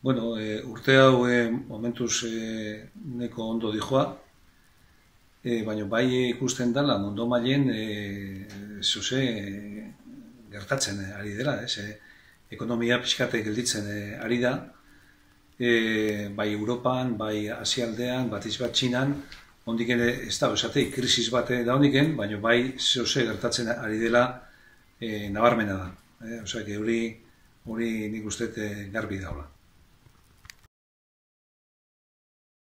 Bueno, urte hau momentuz neko ondo dijoa, baina bai ikusten dela mundu mailen zuze gertatzen ari dela, ez? Ekonomia pixkate gelditzen ari da, bai Europan, bai Asialdean, batiz bat Txinan, ondik ere ez da, esatei, krisis bat da ondiken, baina bai zuze gertatzen ari dela nabarmena da. Osea, hori nik uste garbi daula.